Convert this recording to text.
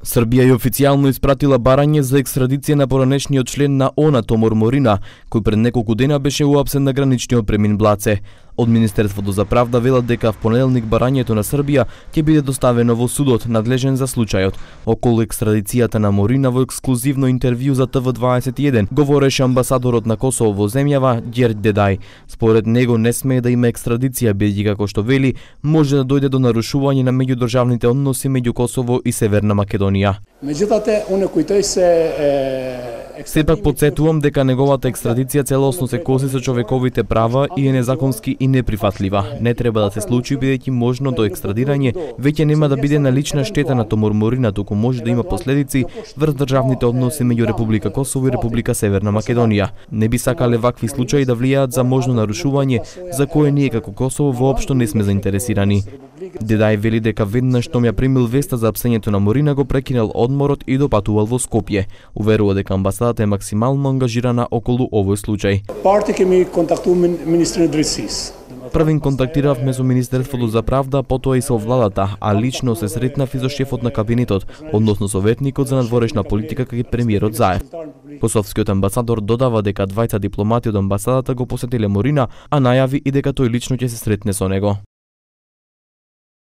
Србија ја официјално испратила барање за екстрадиција на поранешниот член на ООН Томор Морина, кој пред неколку дена беше уапсен на граничниот премин Блаце. Од Министерството за правда велат дека в понеделник барањето на Србија ќе биде доставено во судот надлежен за случајот. Околу екстрадицијата на Морина во ексклузивно интервју за ТВ21 говореше амбасадорот на Косово во земјава Ѓерѓ Дедај. Според него не смее да има екстрадиција бидејќи како што вели може да дојде до нарушување на меѓудржавните односи меѓу Косово и Северна Македонија. Сепак потсетувам дека неговата екстрадиција целосно се коси со човековите права и е незаконски и неприфатлива. Не треба да се случи бидејќи можно до екстрадирање веќе нема да биде налична штета на Томор Морина, туку може да има последици врз државните односи меѓу Република Косово и Република Северна Македонија. Не би сакале вакви случаи да влијаат за можно нарушување за кое ние како Косово воопшто не сме заинтересирани. Дедај вели дека веднаш што ја примил веста за апсењето на Морина го прекинал одморот и допатувал во Скопје. Уверува дека амбасадата е максимално ангажирана околу овој случај. Првин контактиравме со Министерството за правда, потоа и со владата, а лично се сретнав и со шефот на кабинетот, односно советникот за надворешна политика кај премиерот Заев. Косовскиот амбасадор додава дека двајца дипломати од амбасадата го посетиле Морина, а најави и дека тој лично ќе се сретне со него.